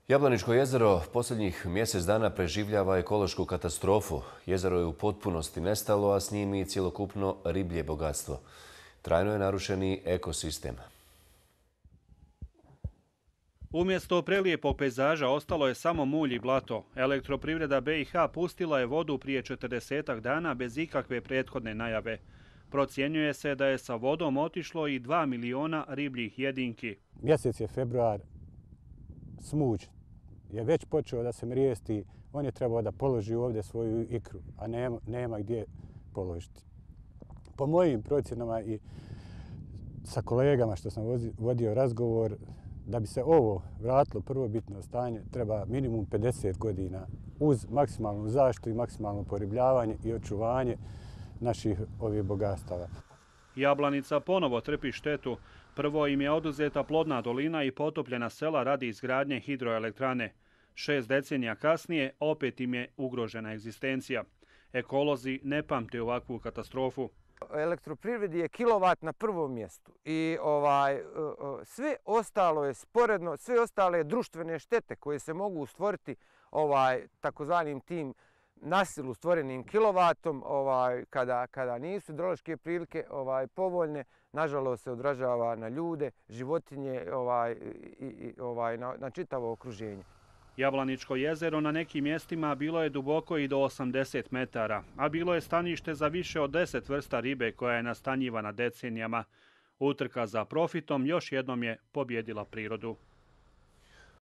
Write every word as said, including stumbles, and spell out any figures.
Jablaničko jezero posljednjih mjesec dana preživljava ekološku katastrofu. Jezero je u potpunosti nestalo, a s njim i cjelokupno riblje bogatstvo. Trajno je narušeni ekosistem. Umjesto prelijepog pejzaža ostalo je samo mulj i blato. Elektroprivreda B i H pustila je vodu prije četrdesetak dana bez ikakve prethodne najave. Procjenjuje se da je sa vodom otišlo i dva miliona ribljih jedinki. Mjesec je februar, smuđ je već počeo da se mrijesti, on je trebao da položi ovdje svoju ikru, a nema, nema gdje položiti. Po mojim procjenama i sa kolegama što sam vodio razgovor, da bi se ovo vratilo prvobitno stanje, treba minimum pedeset godina uz maksimalnu zaštitu i maksimalno poribljavanje i očuvanje naših ovih bogatstava. Jablanica ponovo trpi štetu. Prvo im je oduzeta plodna dolina i potopljena sela radi izgradnje hidroelektrane. Šest decenija kasnije opet im je ugrožena egzistencija. Ekolozi ne pamte ovakvu katastrofu. Elektroprivredi je kilovat na prvom mjestu i ovaj, sve ostalo je sporedno, sve ostale društvene štete koje se mogu stvoriti ovaj, takozvanim tim nasilu stvorenim kilovatom, ovaj, kada, kada nisu hidrološke prilike ovaj, povoljne, nažalost se odražava na ljude, životinje ovaj, i, i, ovaj, na, na čitavo okruženje. Jablaničko jezero na nekim mjestima bilo je duboko i do osamdeset metara, a bilo je stanište za više od deset vrsta ribe koja je nastanjivana decenijama. Utrka za profitom još jednom je pobjedila prirodu.